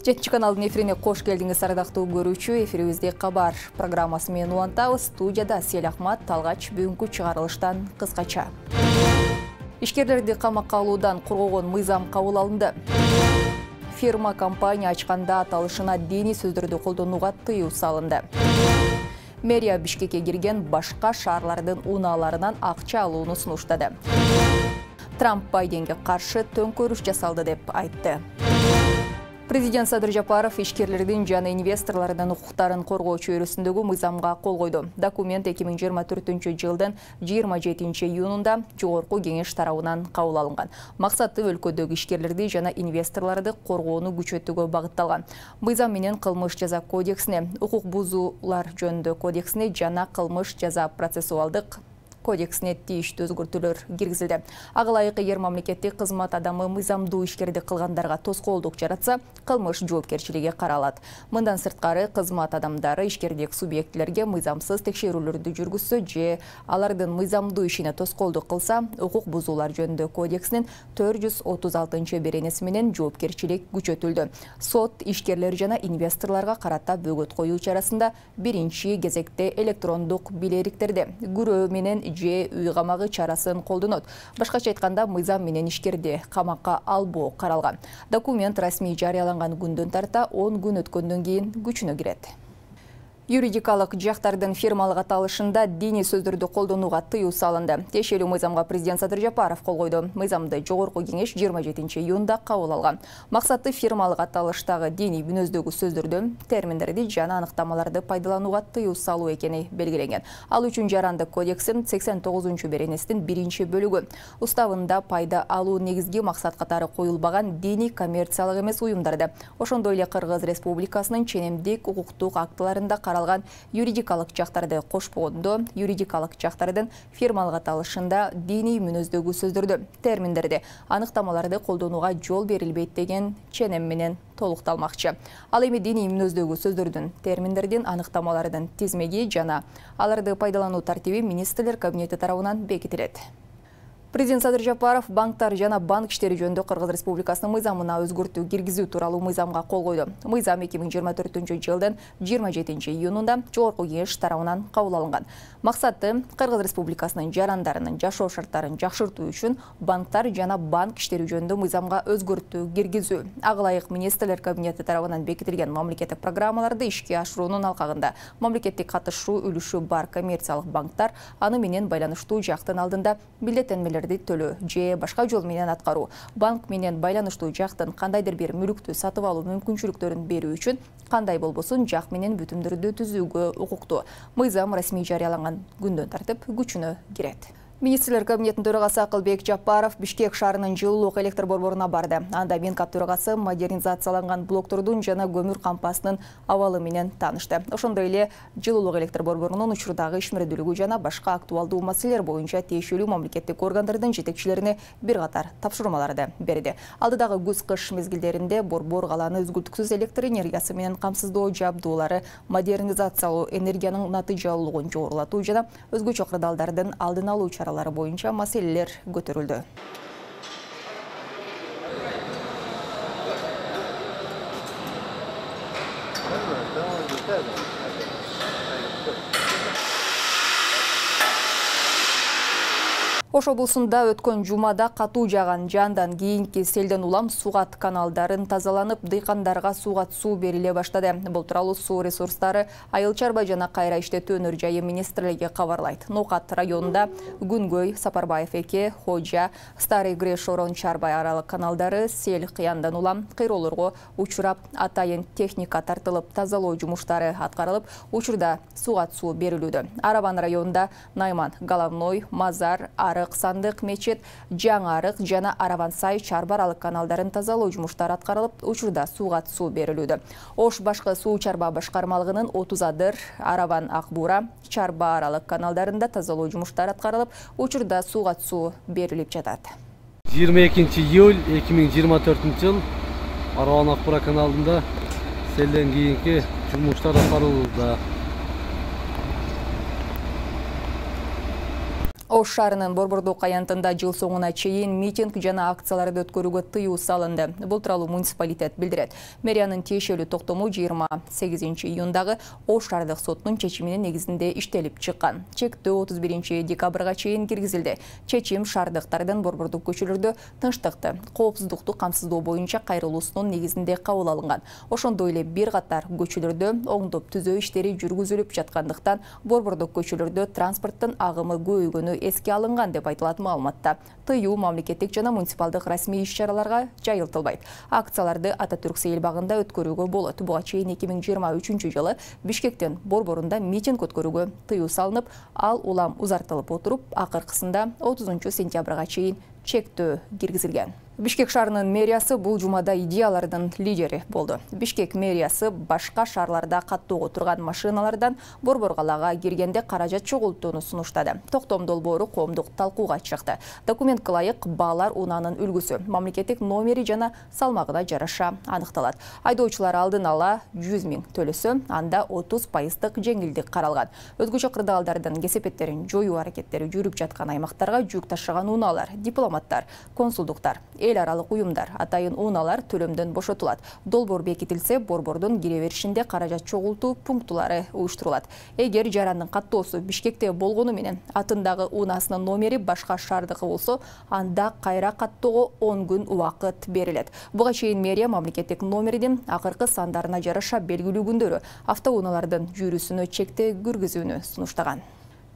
7 каналдын эфирине кош келдиңиз ардактуу көрүүчү. Эфирибизде кабар программасы менен улантабыз. Студияда Сел Ахмат, Талгач бүгүнкү чыгарылыштан кыскача. Ишкерлерди камакка алуудан коргогон мыйзам кабыл алынды. Фирма компания ачканда аталышына диний сөздөрдү колдонууга тыюу салынды. Мэрия Бишкекке кирген башка шаарлардын унааларынан акча алууну сунуштады. Трамп Байденге каршы төңкөрүш жасалды деп айтты. Президент Садыр Жапаров ишкерлердин жана инвесторлордун укуктарын коргоо чөйрөсүндөгү мыйзамга кол койду. Документ 2024 жылдын 27 июнунда Жогорку кеңеш тарабынан кабыл алынган. Максаты өлкөдөгү ишкерлерди жана инвесторлорду коргоону күчөтүүгө багытталган. Мыйзам менен кылмыш жаза кодексине, укук бузуулар жөнүндө кодексине жана кылмыш жаза процессуалдык кодексине тийиштүү өзгөртүүлөр киргизилди. Ага ылайык эгер мамлекеттик кызмат адамы мыйзамдуу ишкерди кылгандарга тоскоолдук жаратса, кылмыш жоопкерчилиги каралат. Мындан сырткары кызмат адамдары ишкердик субъектилерге мыйзамсыз текшерүүлөрдү жүргүзсө же алардын мыйзамдуу ишине тоскоолдук кылса, укук бузуулар жөнүндө кодексинин 436-беренеси менен жоопкерчилик күчөтүлдү. Сот ишкерлер жана инвесторлорго карата бөгөт коюу чарасында биринчи кезекте электрондук билериктерди күрөө менен же үй камагы чарасын колдонот. Башкача айтканда, мыйзам менен ишкерди камакка албоо каралган. Документ расмий жарыяланган күндөн тарта 10 күн өткөндөн кийин күчүнө кирет. Юридикалык жактардын фирмалык аталышында диний сөздөрдү колдонууга тыюу салынды. Тиешелүү мыйзамга президент Садыр Жапаров кол койду. Мыйзамды Жогорку кеңеш 27 июнда кабыл алган. Максаты фирмалык аталыштагы диний мүнөздөгү сөздөрдү, терминдерди жана аныктамаларды пайдаланууга тыюу салуу экени белгиленген. Ал үчүн Жарандык кодекстин 89-беренесинин 1-бөлүгү уставында пайда алуу негизги максат катары коюлбаган диний коммерциялык эмес уюмдарды, ошондой эле Кыргыз Республикасынын ченемдик укуктук актыларында каралган юридикалык жактарды кошпогондо, юридикалык жактардын фирмалык аталышында диний мүнөздөгү сөздөрдү, терминдерди, аныктамаларды колдонууга жол берилбейт деген ченем менен толукталмакчы. Ал эми диний мүнөздөгү сөздөрдүн, терминдердин, аныктамалардын тизмеги жана аларды пайдалануу тартиби министрлер кабинети тарабынан бекитилет. Президент Садыр Жапаров банктар жана банк иштери жөнүндө Кыргыз Республикасынын мыйзамына өзгөртүү киргизүү тууралуу мыйзамга кол койду. Мыйзам 2024 жылдын 27 июнунда Жогорку кеңеш тарабынан кабыл алынган. Максаты Кыргыз Республикасынын жарандарынын жашоо шарттарын жакшыртуу үчүн банктар жана банк иштери жөнүндө мыйзамга өзгөртүү киргизүү. Ага ылайык министрлер кабинети тарабынан бекитилген мамлекеттик программаларды ишке ашыруунун алкагында мамлекеттик катышуу үлүшү бар коммерциялык банктар аны менен байланыштуу жактын алдында билдеттенмелер төлөө же башка жол менен аткаруу, банк менен байланыштуу жактын кандайдыр бир мүлктү сатып алуу мүмкүнчүлүктөрүн берүү үчүн кандай болбосун жак менен бүтүмдөрдү түзүүгө укуктуу. Мыйзам расмий жарыяланган күндөн тартып күчүнө кирет. Министрлер кабинетинин төрагасы Акылбек Жапаров Бишкек шаарынын жылуулук электр борборуна барды. Анда Минкап төрагасы модернизацияланган блоктордун жана көмүр кампасынын абалы менен таанышты. Ошондой эле жылуулук электр борборунун учурдагы ишмердүүлүгү жана башка актуалдуу маселелер боюнча тиешелүү мамлекеттик органдардын жетекчилерине бир катар тапшырмаларды берди. Алдыдагы күз-кыш мезгилдеринде борбор каланы үзгүлтүксүз электр энергиясы менен камсыздоо жабдуулары, модернизациялоо, энергиянын натыйжалуулугун жогорулатуу жана өзгөчө кырдаалдардын алдын алуу боюнча маселелер көтөрүлдү. Ош облусунда өткөн жумада катуу жааган жандан кийинки селден улам Сугат каналдарын тазаланып, дыйкандарга Сугат суу бериле баштады. Бул тууралуу суу ресурстары Айыл чарба жана кайра иштетүү өнөр жайы министрлиги кабарлайт. Ноокат районунда Күнгөй, Сапарбаев эке, Хожа, Старый Греш, Орон Чарбай аралык каналдары сел кыяндан улам кыйроолорго учурап, атайын техника тартылып, тазалоо жумуштары аткарылып, учурда Сугат суу берилүүдө. Араван районунда Найман, Головной, Мазар, Арык, Сандык, Мечет, Жаңы Арык жана Араван Сай чарба аралык каналдарын тазалоо жумуштары аткарылып, учурда Сугат суу берилүүдө. Ош башкы суу чарба башкармалыгынын 30 Адыр, Араван Акбура чарба аралык каналдарында тазалоо жумуштары аткарылып, учурда Сугат суу берилип жатат. 22 июль 2024 жыл Араван Акбура каналында селден кийинки жумуштар аткарылууда. Ош шаарынын Борбордук аянтында жыл соңуна чейин митинг жана акцияларды өткөрүүгө тыюу салынды. Бул тууралуу муниципалитет билдирет. Мэриянын тиешелүү токтому 28 июндагы Ош шаардык сотунун чечиминин негизинде иштелип чыккан. Чектөө 31 декабрга чейин киргизилди. Чечим шаардыктардын борбордук көчөлөрдө тынчтыкты, коопсуздукту камсыздоо боюнча кайрылуусунун негизинде кабыл алынган. Ошондой эле бир катар көчөлөрдө оңдоп түзөө иштери жүргүзүлүп жаткандыктан борбордук көчөлөрдө транспорттун агымы көбөйгөнү эске алынган деп айтылат маалыматта. Тыюу мамлекеттик жана муниципалдык расмий иш-чараларга жайылтылбайт. Акцияларды Ататүрк сейил багында өткөрүүгө болот. Буга чейин 2023 жылы Бишкектин борборунда митинг өткөрүүгө тыюу салынып, ал улам узартылып отуруп, акыркысында 30 сентябрга чейин чектөө киргизилген. Бишкек шаарынын мэриясы бул жумада идеялардын лидери болду. Бишкек мэриясы башка шаарларда каттоого турган машиналардан борбор калаага киргенде каражат чогултууну сунуштады. Токтом долбоору коомдук талкууга чыкты. Документке ылайык баалар унаанын үлгүсү, мамлекеттик номери жана салмагына жараша аныкталат. Айдоочулар алдын ала 100 000 төлөсө, анда 30% жеңилдик каралган. Өзгөчө кырдаалдардын кесепеттерин жоюу аракеттери жүрүп жаткан аймактарга жүк ташыган унаалар, дипломаттар, консулдуктар, эл аралык уюмдар, атайын унаалар төлөмдөн бошотулат. Долбоор бекитилсе, борбордун кире беришинде каражат чогултуу пунктулары уюштурулат. Эгер жарандын каттоосу Бишкекте болгону менен атындагы унаасынын номери башка шаардыкы болсо, анда кайра каттоого 10 күн убакыт берилет. Буга чейин мэрия мамлекеттик номердин акыркы сандарына жараша белгилүү күндөрү автоунаалардын жүрүүсүнө чектөө киргизүүнү сунуштаган.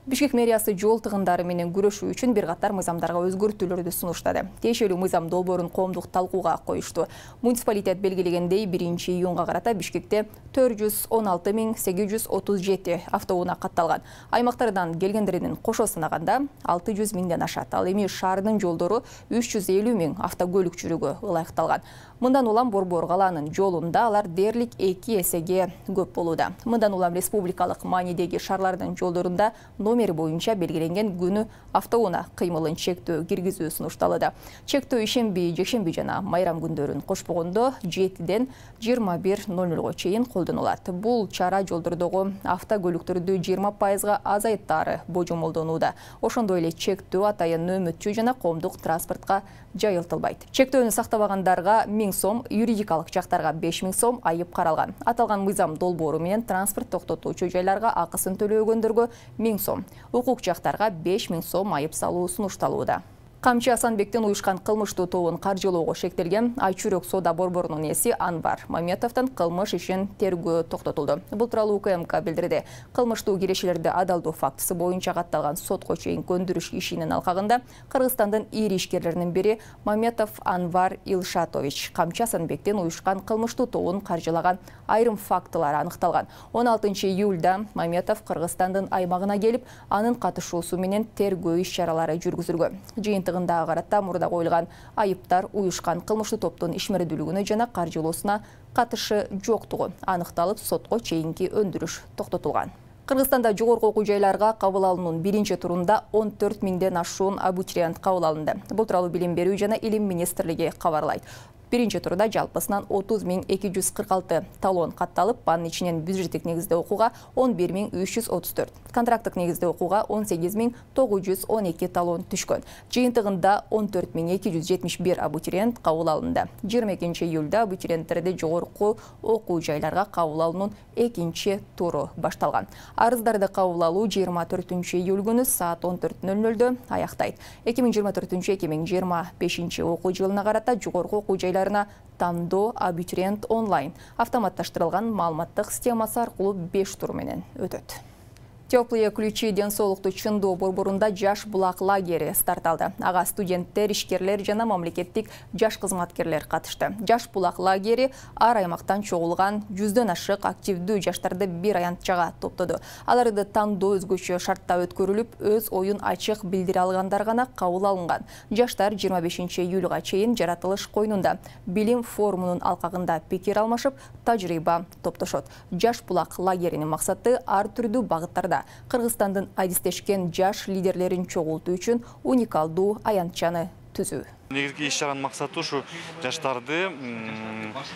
Бишкек мэриясы жол тыгындары менен күрөшүү үчүн бир катар мыйзамдарга өзгөртүүлөрдү сунуштады. Тиешелүү мыйзам долбоорун коомдук талкууга коюшту. Муниципалитет белгилегендей 1 июнга карата Бишкекте 416 837 автоунаа катталган. Аймактардан келгендердин кошо санаганда 600 000ден ашат. Ал эми шаардын жолдору 350 000 автокөлүк жүрүүгө ылайыкталган. Мындан улам борбор калаанын жолунда алар дээрлик 2 эсеге көп болууда. Мындан улам республикалык маанидеги шаарлардын жолдорунда номери боюнча белгиленген күнү автоунаа кыймылын чектөө киргизүү сунушталды. Чектөө ишемби, жекшемби жана майрам күндөрүн кошпогондо 7ден 21:00 чейин колдонулат. Бул чара жолдордогу автокөлүктөрдү 20% азайттаары божомолдонууда. Ошондой эле чектөө атайын нөөмөтчү жана коомдук транспортко жайылтылбайт. Чектөөнү сактабагандарга 1000 сом, юридикалык жактарга 5000 сом айып каралган. Аталган мыйзам долбоору менен транспорт токтотуучу жайларга акысын төлөбөгөндөргө 1000 сом, укук жактарга 5000 сом айып салуу сунушталууда. Камчы Асанбектин уюшкан кылмыштуу тобун каржылоого шектелген Айчүрөк соода борборунун ээси Анвар Маметовдун кылмыш ишин тергөө токтотулду. Бул тууралуу УКМК билдирди. Кылмыштуу кирешелерди адалдоо фактысы боюнча катталган сотко чейин көндүрүш ишинин алкагында Кыргызстандын ири ишкерлеринин бири Маметов Анвар Илшатович Камчы Асанбектин уюшкан кылмыштуу тобун каржылаган айрым фактылар аныкталган. 16 июлда Маметов Кыргызстандын аймагына келип, анын катышуусу менен тергөө иш-чаралары жүргүзүлгөн. Жыйынтыгында карата мурда коюлган айыптар уюшкан кылмыштуу топтун ишмердүүлүгүнө жана каржылоосуна катышы жоктугу аныкталып, сотко чейинки өндүрүш токтотулган. Кыргызстанда жогорку окуу жайларга кабыл алуунун биринчи турунда 14 000ден ашуун абитуриент кабыл алынды. Бул тууралуу Билим берүү жана Илим министрлиги кабарлайт. Биринчи турда жалпысынан 30 246 талон катталып, анын ичинен бюджеттик негизде окууга 11 334, контракттык негизде окууга 18 912 талон түшкөн. Жыйынтыгында 14 271 абитуриент кабыл алынды. 22 июлда абитуриенттерди жогорку окуу жайларга кабыл алуунун экинчи туру башталган. Арыздарды кабыл алуу 24 июль күнү саат 14:00 аяктайт. 2024-2025 окуу жылына карата жогорку окуу жайларына тандоо абитуриент онлайн автоматташтырылган маалыматтык системасы аркылуу 5 тур менен өтөт. Теплые ключи ден соолукту чындоо борборунда жаш булак лагери старт алды. Ага студенттер, ишкерлер жана мамлекеттик жаш кызматкерлер катышты. Жаш булак лагери ар аймактан чогулган 100дөн ашык активдүү жаштарды бир аянтчага топтоду. Аларды тандоо өзгөчө шартта өткөрүлүп, өз оюн ачык билдире алгандар гана кабыл алынган. Жаштар 25 июлга чейин жаратылыш койнунда билим форумунун алкагында пикир алмашып, тажрыйба топтошот. Жаш булак лагеринин максаты ар түрдүү багыттарда Кыргызстандын адистешкен жаш лидерлерин чогултуу үчүн уникалдуу аянтчаны түзүү. Негизги иш-чаранын максаты ушу жаштарды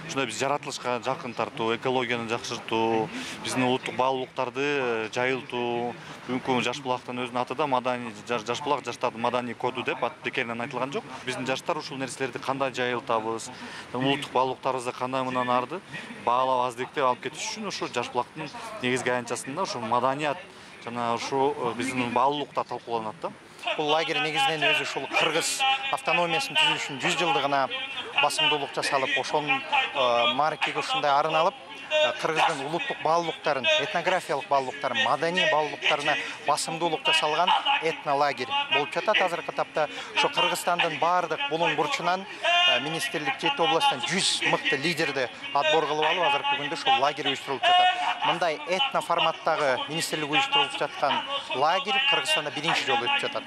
ушундай биз жаратылышка жакын тартуу, экологияны жакшыртуу, биздин улуттук баалуулуктарды жайылтуу. Бүгүнкү Жаш булактын өзүнүн аты да маданий Жаш булак жаштардын маданий коду деп ат бекеринен айтылган жок. Биздин жаштар ушул нерселерди кандай жайылтабыз, улуттук баалуулуктарыбызды кандай мындан арды баалап аздиктеп алып кетиш үчүн ушу Жаш булактын негизги аянтчасында ушу маданият жана ушу биздин баалуулуктар талкууланат да. Бул лагерь негизинен өзү ушул кыргыз автономиясынын түзүлүшүнүн 100 жылдыгына басымдуулук жасалып, ошонун маркеге ушундай арын алып, кыргыздын улуттук баалуулуктарын, этнографиялык баалуулуктарын, маданий баалуулуктарына басымдуулук жасалган этнолагерь болуп жатат. Азыркы тапта ошо Кыргызстандын баардык булуң бурчунан министрлик 7 областтан 100 мыкты лидерди отбор кылып алып, азыркы күндө ушул лагерь уюштурулуп жатат. Мындай этно форматтагы министрлик уюштурулуп жаткан лагерь Кыргызстанда биринчи жолу өтүп жатат.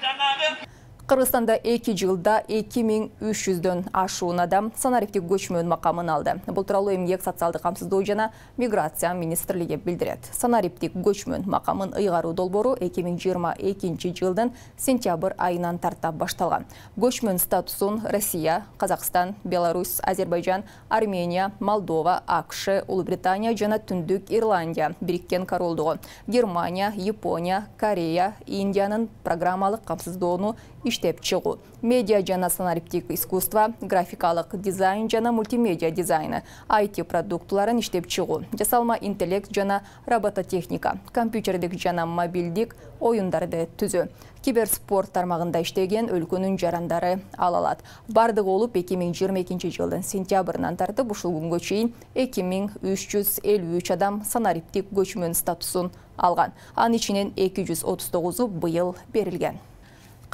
Кыргызстанда 2 жылда 2300дөн ашуун адам санариптик көчмөн макамын алды. Бул тууралуу Эмгек социалдык камсыздоо жана миграция министрлиги билдирет. Санариптик көчмөн макамын ыйгаруу долбоору 2022 жылдын сентябрь айынан тарта башталган. Көчмөн статусун Россия, Казакстан, Беларусь, Азербайжан, Армения, Молдова, АКШ, Улуу Британия жана Түндүк Ирландия, Бириккен Королдугу, Германия, Япония, Корея, Индиянын программалык камсыздоону иштеп чыгуу, медиа жана санариптик искусство, графикалык дизайн жана мультимедиа дизайны, IT продуктуларын иштеп чыгуу, жасалма интеллект жана робототехника, компьютердик жана мобилдик оюндарды түзүү, киберспорт тармагында иштеген өлкөнүн жарандары ала алат. Бардыгы болуп 2022 жылдын сентябрынан тартып ушул күнгө чейин 2353 адам санариптик көчмөн статусун алган. Анын ичинен 239 быйыл берилген.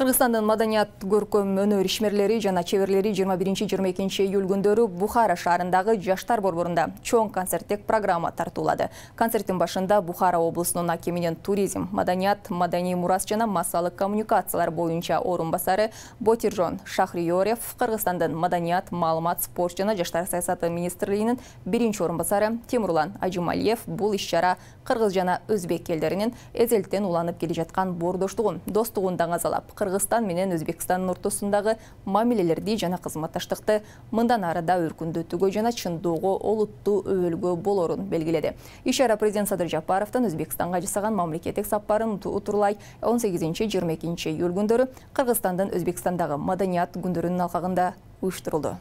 Кыргызстандын маданият, көркөм өнөр ишмерлери жана чеберлери 21-22 июль күндөрү Бухара шаарындагы жаштар борборунда чоң концерттик программа тартуулады. Концерттин башында Бухара облусунун акиминин туризм, маданият, маданий мурас жана массалык коммуникациялар боюнча орун басары Ботиржон Шахриёрев, Кыргызстандын маданият, маалымат, спорт жана жаштар саясаты министрлигинин биринчи орун басары Темурлан Ажималиев бул иш-чара кыргыз жана өзбек элдеринин эзелтен уланып келе жаткан боордоштугун, достугун даңазалап, Кыргызстан менен Өзбекстандын ортосундагы мамилелерди жана кызматташтыкты мындан ары да өркүндөтүүгө жана чындоого олуттуу өбөлгө болорун белгиледи. Иш-чара президент Садыр Жапаровдун Өзбекстанга жасаган мамлекеттик сапарын утурлай 18-22 июль күндөрү Кыргызстандын Өзбекстандагы маданият күндөрүнүн алкагында уюштурулду.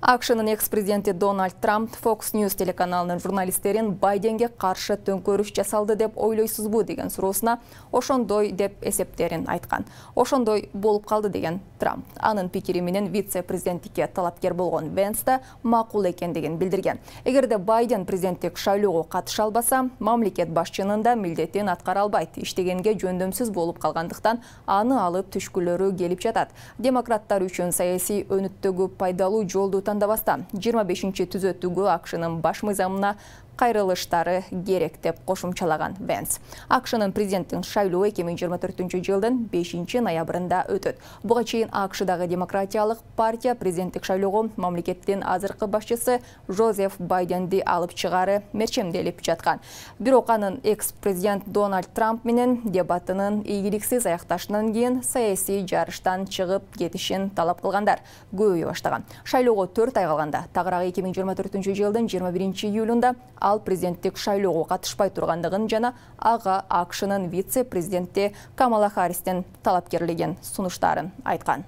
AQSh'nын экс-президенти Дональд Трамп Fox News телеканалынын журналисттерин Байденге каршы төңкөрүш жасалды деп ойлойсузбу деген суроосуна ошондой деп эсептерин айткан. Ошондой болуп калды деген Трамп. Анын пикири менен вице-президенттикке талапкер болгон Венс да макул экендигин билдирген. Эгерде Байден президенттик шайлоого катыша албаса, мамлекет башчынын да милдетин аткара албайт. Иштегенге жөндөмсүз болуп калгандыктан аны алып түшкүлөрү келип жатат. Демократтар үчүн саясий өнүттөгү пайдалуу жолду тандабастан 25-чи түзөтүүгө AQSh'нын баш мыйзамына кайрылыштары керек деп кошумчалаган Венс. AQSh'нын президенттин шайлоо 2024 жылдын 5 ноябрында өтөт. Буга чейин AQSh'дагы демократиялык партия президенттик шайлоого мамлекеттин азыркы башчысы Жозеф Байденди алып чыгары мерчемделип жаткан. Бирок анын экс-президент Дональд Трамп менен дебатынын ийгиликсиз аякташынан кийин саясий жарыштан чыгып кетишин талап кылгандар көбөйө баштаган. Шайлоого 4 ай калганда, тагыраагы 2024 жылдын 21 июлунда ал президенттик шайлоого катышпай тургандыгын жана ага AQSh'нын вице-президенти Камала Харристин талапкерлигин сунуштарын айткан.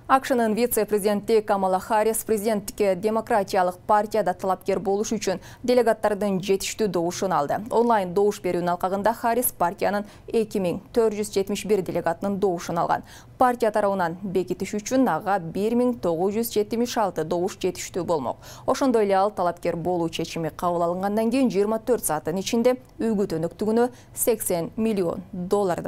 AQSh'нын вице-президенти Камала Харрис президенттикке демократиялык партияда талапкер болуш үчүн делегаттардын жетиштүү добушун алды. Онлайн добуш берүүнүн алкагында Харрис партиянын 2471 делегатынын добушун алган. Партия тарабынан бекитиш үчүн ага 1976 добуш жетиштүү болмок. Ошондой эле ал талапкер болуу чечими кабыл алынгандан кийин 24 сааттын ичинде үгүт өнөктүгүнө $80 миллион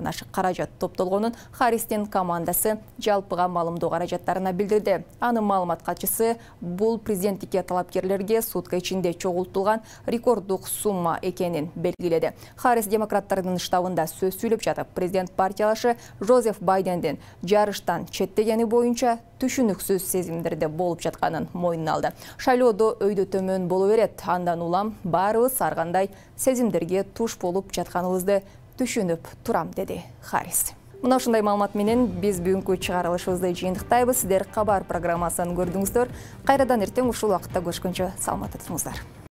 ашык каражат топтолгонун Харристин командасы жалпыга маалымдоо каражаттарына билдирди. Анын маалымат катчысы бул президенттикке талапкерлерге сутка ичинде чогултулган рекорддук сумма экенин белгиледи. Харрис демократтардын штабында сөз сүйлөп жатып, президент партиялашы Жозеф Байдендин жарыштан четтегени боюнча түшүнүксүз сезимдерде болуп жатканын мойнуна алды. Шайлоодо өйдө төмөн боло берет. Андан улам баарыбыз ар кандай сезимдерге туш болуп жатканыбызды түшүнүп турам, деди Харрис. Мына ушундай маалымат менен биз бүгүнкү чыгарылышыбызды жыйынтыктайбыз. Сиздер Кабар программасын көрдүңүздөр. Кайрадан эртең ушул убакытта көрүшкөнчө саламатта туруңуздар.